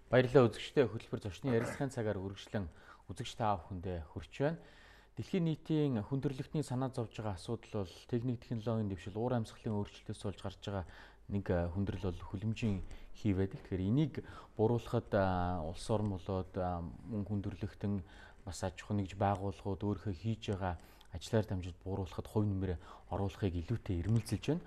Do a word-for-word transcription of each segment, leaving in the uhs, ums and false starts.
Баярлалаа үзэгчдээ хөтөлбөр зочны ярилцлагын цагаар үргэлжлэн үзэгч та бүхэндээ хүрч байна. Дэлхийн нийтийн хүндрэлтний санаа зовж байгаа асуудал бол техник технологийн дэвшил, уур амьсгалын өөрчлөлтөөс болж гарч байгаа нэг хүндрэл бол хүлэмжийн хий байдаг. Тэгэхээр энийг буруулахад улс орн болоод мөн хүндрэлтэн бас аж ахуй нэгж байгууллагууд өөрийнхөө хийж байгаа ажлаар дамжиж бууруулахад хувь нэмрээ оруулахыг илүүтэй эрмэлзэлж байна.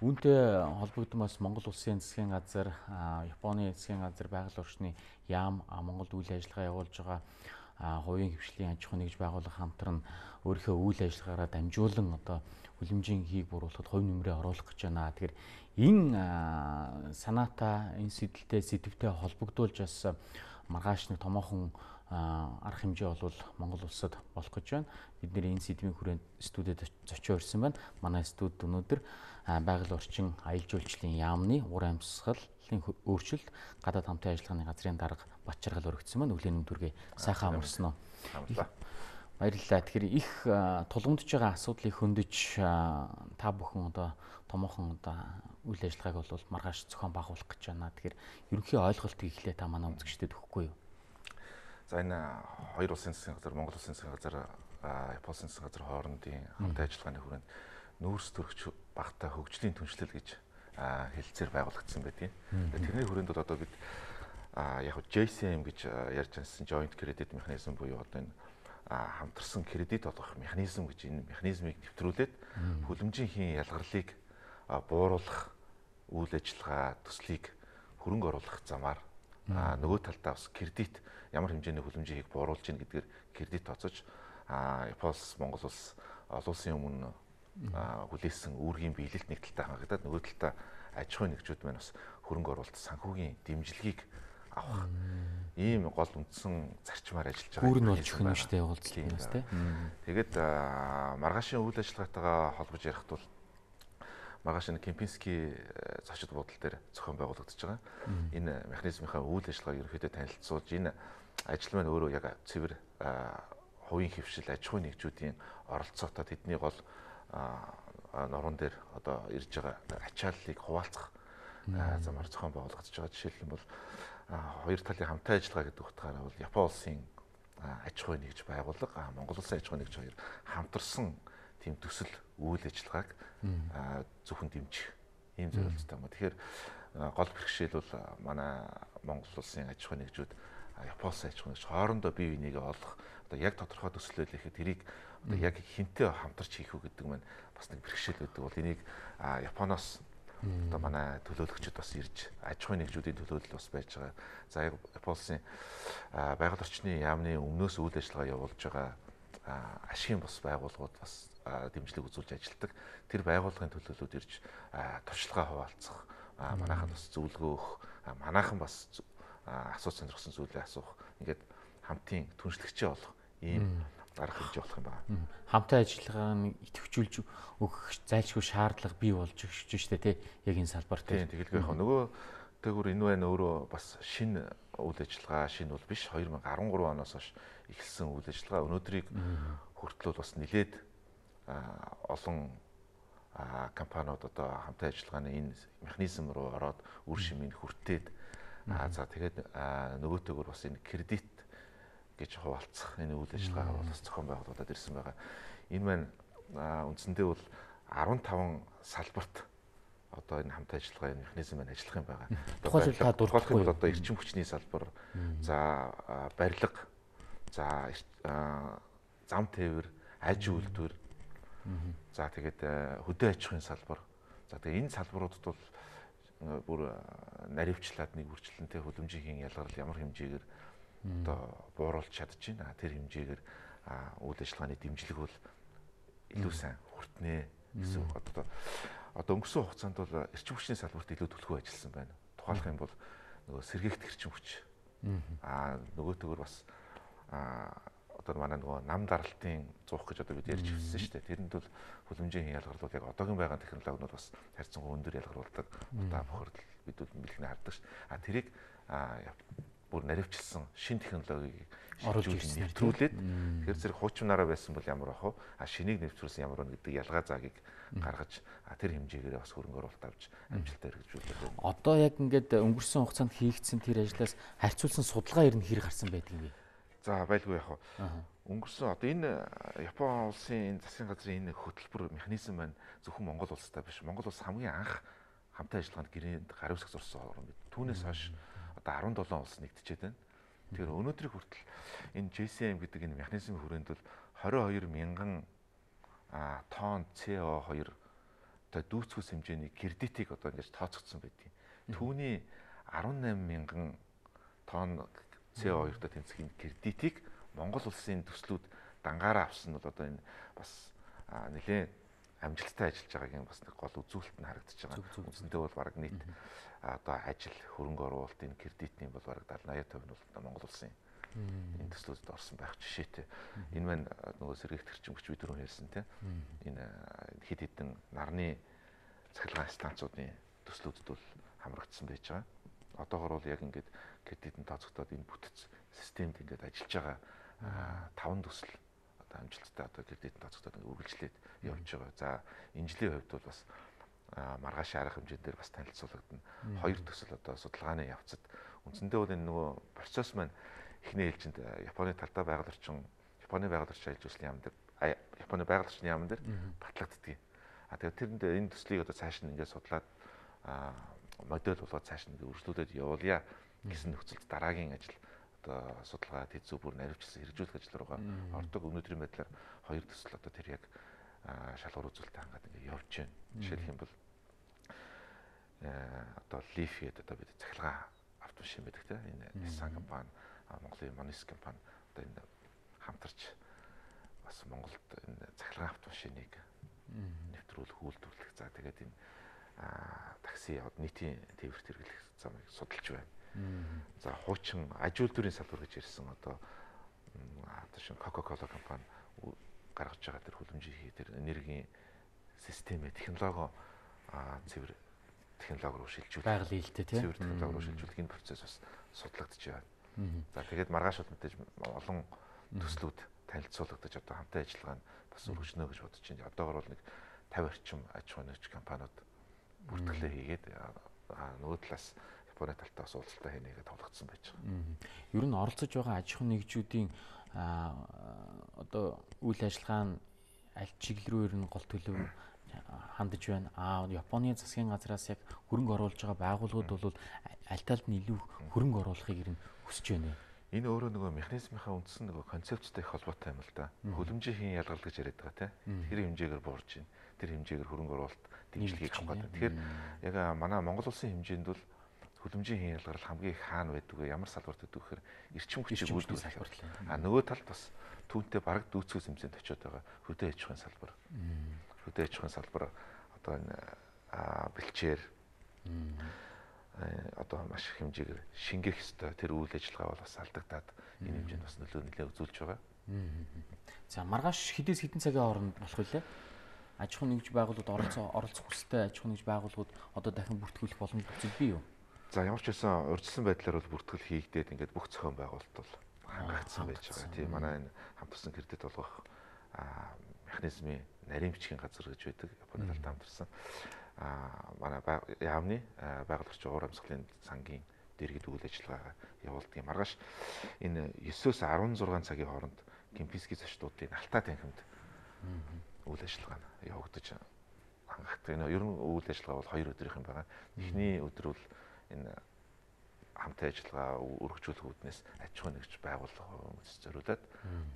Үүнтэй холбогдсон бас Монгол Улсын засгийн газар, Японы засгийн газар, байгаль орчны яам, Монголд үйл ажиллагаа явуулж байгаа хувийн хвшлийн аж ахуй нэгж байгууллага хамтран өөрийнхөө үйл ажиллагаараа дамжуулан одоо хүлэмжийн хийг буруулахад хувь нэмрээ оруулах гэж байна. Тэгэхээр энэ санаатай, энэ сэдэлтэй, сэдвтэй холбогдуулж бас маргааш нэг томоохон арга хэмжээ бол Монгол улсад болох гэж байна. Бид нэр энэ сэдвийн хүрээнд студид зочио ирсэн байна. Манай студид өнөөдөр байгаль орчин аялал жуулчлалын яамны ур амьсгалын өөрчлөлт гадаад хамтын ажиллагааны газрын дарга Батчаргал өргөцсөн байна. Өглөөний өдрөгээ сайхан амарсан уу? Баярлалаа. Тэгэхээр их тулгамдж байгаа асуудлыг хөндөж та бүхэн одоо томоохон одоо үйл ажиллагааг бол маргааш зохион байгуулах гэж байна. Тэгэхээр ерөнхий ойлголтыг эхлээ та манай үзэгчдэд өгөхгүй юу? За энэ хоёр улсын засгийн газар, Монгол улсын засгийн газар, Японы улсын засгийн газар хоорондын хамтын ажиллагааны хүрээнд нүүрс төрөгч багтаа хөгжлийн түншлэл гэж хэлэлцээр байгуулагдсан байдгийг. Тэрний хүрээнд бол одоо бид яг J C M гэж ярьж байсан Joint Credit Mechanism буюу одоо энэ хамтарсан кредит олгох механизм гэж энэ механизмыг нэвтрүүлээд хүлэмжийн хийн ялгарлыг бууруулах үйл ажиллагаа төслийг хөрөнгө оруулах замаар нөгөө талдаа бас кредит ямар хэмжээний хүлэмжийн хийг бууруулж ийн гэдгээр кредит тооцож Японоос Монгол улс олон улсын өмнө хүлээсэн үүргийн биелэлт нэг талтай хангагдаад нөгөө талдаа аж ахуйн нэгжүүд маань бас хөрөнгө оруулалт санхүүгийн дэмжлэгийг авах ийм гол үндсэн зарчмаар ажиллаж байгаа. Үүр нь болж өгнө шүү дээ уулзлаас тийм. Тэгээд маргаашийн үйл ажиллагаатайгаа холбож ярихад бол маргааш энэ Кемпинский зочид буудал дээр зохион байгуулагдаж байгаа. Энэ механизмынхаа үйл ажиллагааг ерөнхийдөө танилцуулж энэ ажил маань өөрөө яг цэвэр хувийн хвшил аж ахуйн нэгжүүдийн оролцоотой тэдний гол норон дээр одоо ирж байгаа ачааллыг хуваалцах замаар зохион байгуулагдаж байгаа. Жишээлбэл бол хоёр талын хамтын ажиллагаа гэдэг утгаараа бол Японы улсын аж ахуй нэгж байгууллага, Монгол улсын аж ахуй нэгж хоёр хамтарсан тийм төсөл үйл ажиллагааг зөвхөн дэмжих ийм зорилттой юм. Тэгэхээр гол бэрхшээл бол манай Монгол улсын аж ахуй нэгжүүд Японы аж ахуй нэгж хоорондоо бие бинийгээ олох одоо яг тодорхой төслөл ихэд тэрийг одоо яг хинтээ хамтарч хийх үү гэдэг маань бас нэг бэрхшээл байдаг бол энийг Японоос одоо манай төлөөлөгчд бас ирж аж ахуй нэгжүүдийн төлөөлөл бас байж байгаа. За Японы байгаль орчны яамны өмнөөс үйл ажиллагаа явуулж байгаа ашигын бас байгууллагууд бас дэмжлэг үзүүлж ажилладаг. Тэр байгууллагын төлөөллүүд ирж туршлагаа хуваалцах, манайхан бас зөвлөгөө өгөх, манайхан бас асууж сонирхсан зүйлээ асуух. Ингээд хамтын түншлэгчээ болох ийм арга хэмжээ болох юм байна. Хамтын ажиллагааг идэвхжүүлж өгөх зайлшгүй шаардлага бий болж өгч штэ тий яг энэ салбар тий. Тэгэлгүй яг нөгөө тэгвэр энэ байна өөрөө бас шинэ үйл ажиллагаа шинэ бол биш хоёр мянга арван гурван оноос хойш эхэлсэн үйл ажиллагаа өнөөдрийг хүртэл бас нэлээд олон компаниуд одоо хамтын ажиллагааны энэ механизм руу ороод үр шимийг хүртээд за тэгээд нөгөөтэйгөр бас энэ кредит гэж хуваалцах энэ үйл ажиллагаа бол бас зохион байгуулагдаад ирсэн байгаа. Энэ маань үндсэндээ бол арван таван салбарт одоо энэ хамтын ажиллагааны механизм маань ажиллах юм байгаа. Тухайлбал та дурдахгүй бол одоо эрчим хүчний салбар, за барилга, за зам тээвэр, аж үйлдвэр, за тэгээд хөдөө аж ахуйн салбар. За тэгээд энэ салбаруудад бол бүр наривчлаад нэг үржилтэнтэй хүлэмжийн хийн ялгарл ямар хэмжээгээр одоо бууруулж чадчихна. Тэр хэмжээгээр үйл ажиллагааны дэмжлэг бол илүү сайн хүртнэ гэсэн одоо одоо өнгөрсөн хугацаанд бол эрчим хүчний салбарт илүү төлхөө ажилласан байна. Тухайлх юм бол нөгөө сэргээгт эрчим хүч. Аа нөгөөтэйгөр бас одоо манай нөгөө нам даралтын зуух гэж одоо бид ярьж ирсэн шүү дээ. Тэрэнд бол хүлэмжийн ялгарлууд яг одоогийн байгаа технологиуд бас харьцангуй өндөр ялгаруулдаг. Одоо бохирдол бид бэлгэнэ хардаг ш. А тэрийг бүр наривчилсан шин технологиг оруулж нэвтрүүлээд тэгэхээр зэрэг хуучнаараа байсан бол ямар ах вэ? А шинийг нэвтрүүлсэн ямар вэ гэдэг ялгаа заагийг гаргаж тэр хэмжээгээр бас хөрөнгө оруулалт авч амжилттай хэрэгжүүлдэг байна. Одоо яг ингээд өнгөрсөн хугацаанд хийгдсэн тэр ажлаас харьцуулсан судалгаа ер нь хэр гарсан байдаг юм бэ? За байлгүй яг өнгөрсөн одоо энэ Япон улсын энэ засгийн газрын энэ хөтөлбөр механизм маань зөвхөн Монгол улстай биш. Монгол улс хамгийн анх хамтаа ажиллагаанд гэрээнд гарын үсэг зурсан орн бид. Түүнээс хойш одоо арван долоон улс нэгдчихэд байна. Тэгэхээр өнөөдрийг хүртэл энэ джей си эм гэдэг энэ механизмын хүрээнд бол двадцать two мянган тонн си о two одоо дүүцгүүс хэмжээний кредитийг одоо ингэж тооцогдсон байдгийг. Түүний eighteen мянган тонн си о two-той тэнцэх энэ кредитийг Монгол улсын төслүүд дангаараа авсан нь бол одоо энэ бас нэлээд амжилттай ажиллаж байгаагийн бас нэг гол үзүүлэлт нь харагдаж байгаа. Үндсэндээ бол баг нийт одоо ажил хөрөнгө оруулалт энэ кредитний бол баг eighty eighty percent нь бол Монгол улсын энэ төслүүдэд орсон байх жишээтэй. Энэ маань нөгөө сэргийгтэрчимч бид түрүү хэлсэн тийм энэ хэд хэдэн нарны цахилгаан станцуудын төслүүдэд бол хамрагдсан байж байгаа. Одоогор бол яг ингээд кредитэн тооцогдоод энэ бүтэц системд ингээд ажиллаж байгаа таван төсөл одоо амжилттай одоо кредитэн тооцогдоод үргэлжлээд явж байгаа. За энэ жилийн хувьд бол бас маргааш арга хэмжээнд дээр бас танилцуулагдана. Хоёр төсөл одоо судалгааны явцад үндсэндээ бол энэ нөгөө процесс маань эхний ээлжинд Японы талдаа байгаль орчин Японы байгаль орчин ажил үйлсийн яам дээр Японы байгаль орчны яам дээр батлагддаг. А тэгээд тэрэнд энэ төслийг одоо цааш нь ингээд судлаад модель болгоод цааш нь үргэлжлүүлээд явуулъя гэсэн нөхцөлд дараагийн ажил одоо судалгаа тэзүү бүр наривчлсан хэрэгжүүлэх ажил руугаа ордог. Өнөөдрийн байдлаар хоёр төсөл одоо тэр яг шалгуур үзүүлэлт хангаад ингээд явж байна. Жишээлх юм бол одоо Leaf гэдэг одоо бид цахилгаан автомашин байдаг тийм энэ Nissan компани, Монголын Monis компани одоо энэ хамтарч бас Монголд энэ цахилгаан автомашиныг нэвтрүүлэх, үйлдвэрлэх. За тэгээд энэ такси нийтийн тээвэрт хэрэглэх замыг судалж байна. За хуучин аж үйлдвэрийн салбар гэж ярьсан одоо одоо шин Coca-Cola компани гаргаж байгаа тэр хүлэмжийн тэр энергийн систем технологи цэвэр технологи руу шилжүүлэх. Байгалийн хэлтэй тийм. Цэвэр технологи руу шилжүүлэх энэ процесс бас судлагдж байна. За тэгээд маргааш бол мэдээж олон төслүүд танилцуулагдаж одоо хамтын ажиллагаанд бас өргөжнө гэж бодож байна. Одоогор бол нэг fifty орчим аж ахуйн нэгж компаниуд бүртгэлээ хийгээд нөгөө талаас Японы талтай бас уулзалтаа хийнэ гэж тоглогдсон байж байгаа. Ер нь оролцож байгаа аж ахуйн нэгжүүдийн одоо үйл ажиллагаа нь аль чиглэл рүү ер нь гол төлөв хандаж байна. Аа Японы засгийн газраас яг хөрөнгө оруулж байгаа байгууллагууд бол аль талд нь илүү хөрөнгө оруулахыг ер нь хүсэж байна. Энэ өөрөө нөгөө механизмынхаа үндсэн нөгөө концепцтэй их холбоотой юм л да. Хөлөмжийн ялгалт гэж яриад байгаа тийм. Тэр хэмжээгээр буурж байна. Тэр хэмжээгээр хөрөнгө оруулалт дэмжлэгийг авах гэдэг. Тэгэхээр яг манай Монгол улсын хэмжээнд бол хөлөмжийн ялгарл хамгийн их хаана байдаг вэ? Ямар салбарт байдаг вэ гэхээр эрчим хүчийг үйлдвэрлэх салбар. А нөгөө талд бас түүнтэй бараг дүүцгээс хэмжээнд очиод байгаа хөдөө аж ахуйн салбар. Хөдөө аж ахуйн салбар одоо энэ бэлчээр одоо маш их хэмжээгээр шингээх ёстой. Тэр үйл ажиллагаа бол бас алдагдаад энэ хэмжээнд бас нөлөө нэлээд үзүүлж байгаа. За маргааш хэдээс хэдэн цагийн хооронд болох вэ? Аж ахуйн нэгж байгууллагууд оролцоо оролцох хүсэлтэй аж ахуйн нэгж байгууллагууд одоо дахин бүртгүүлэх боломж үзэл бий юу? За ямар ч байсан урьдчилан байдлаар бол бүртгэл хийгдээд ингээд бүх зохион байгуулалт бол хангагдсан байж байгаа. Тийм манай энэ хамтарсан кредит олгох механизмын нарийн бичгийн газар гэж байдаг. Японы талд хамтарсан. Аа манай яамны байгаль орчин уур амьсгалын сангийн дэргэд үйл ажиллагаа явуулдаг. Маргааш энэ nine-өөс sixteen цагийн хооронд Кемпинский зочдуудын алтаа танхимд үйл ажиллагаа явагдаж хангагддаг. Энэ ер нь үйл ажиллагаа бол хоёр өдрийнх юм байгаа. Эхний өдөр бол энэ хамтын ажиллагаа өргөжүүлэх үүднээс аж ахуйн нэгж байгууллага хүмүүст зориулаад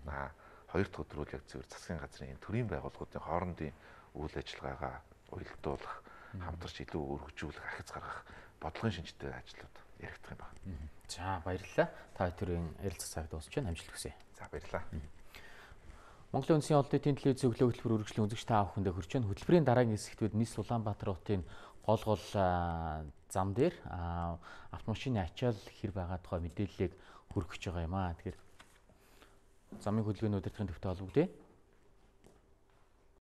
аа хоёр дахь өдөр бол яг зөвхөн засгийн газрын энэ төрийн байгууллагуудын хоорондын үйл ажиллагаагаа уялдуулах, хамтарч илүү өргөжүүлэх, ахиц гаргах бодлогын шинжтэй ажлууд яригдах юм байна. За баярлалаа. Та хоёрын ярилцах цаг дуусч байна. Амжилт хүсье. За баярлалаа. Монголын Үндэсний олонний телевиз өглөө хөтөлбөр үргэлжлэн үзэгч та бүхэндээ хүрч байна. Хөтөлбөрийн дараагийн хэсэгт бид Ниц Улаанбаатар хотын гол гол зам дээр автомашины ачаал хэр байгаа тухай мэдээллийг хүргэж байгаа юм аа. Тэгэхээр замын хөдөлгөөний удирдлагын төвтэй холбогдъё.